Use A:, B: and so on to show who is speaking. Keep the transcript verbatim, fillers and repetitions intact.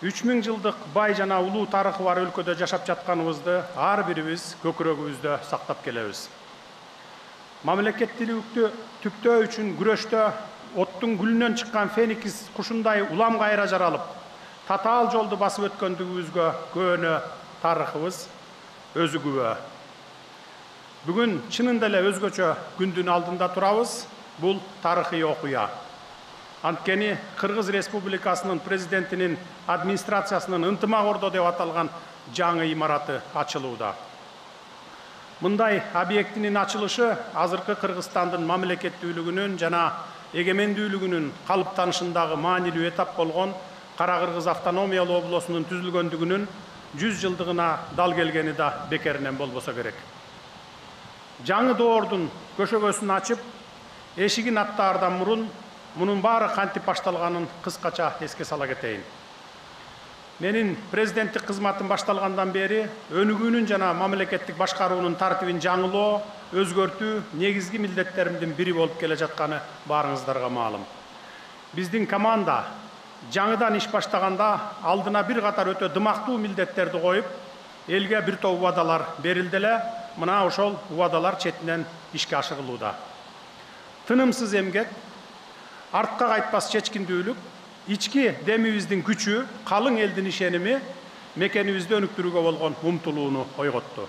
A: үч миң жылдык бай жана улуу тарыхы бар өлкөдө жашап жатканыбызды ар бирибиз көкүрөгүбүздө сактап келебиз. Мамлекеттүүлүктү түптөө үчүн күрөштө оттун гүлүнөн чыккан феникс кушундай улам кайра жаралып, татаал жолду басып өткөндүгүбүзгө көөнө тарыхыбыз өзү күбө. Бүгүн чынында эле өзгөчө күндүн алдында турабыз. Бул тарыхый окуя. Анткени Кыргыз Республикасынын президентинин администрациясынын ынтымак ордо деп аталган жаңы имараты ачылууда. Мындай объектинин ачылышы азыркы Кыргызстандын мамлекеттүүлүгүнүн жана эгемендүүлүгүнүн калыптанышындагы маанилүү этап болгон Кара Кыргыз автономиялуу облусунун түзүлгөндүгүнүн жүз жылдыгына дал келгени да бекеринен болбосо керек. Жаңы доордун көшөгөсүн ачып, эшигин аттаардан мурун мунун баары кантип башталганын кыскача эске сала кетейин. Менин президенттик кызматым башталгандан бери өнүгүүнүн жана мамлекеттик башкаруунун тартибин жаңылоо, өзгөртүү негизги милдеттеримдин бири болуп келе жатканы баарыңыздарга маалым. Биздин команда жаңыдан иш баштаганда алдына бир катар өтө дымактуу милдеттерди коюп, элге бир топ убадалар берилди эле. Мына ошол убадалар четинен ишке ашырылууда. Тынымсыз эмгек, артка кайтпас чечкиндүүлүк, ички демибиздин күчү, калың элдин ишеними мекенибизди өнүктүрүүгө болгон умтулууну ойготту.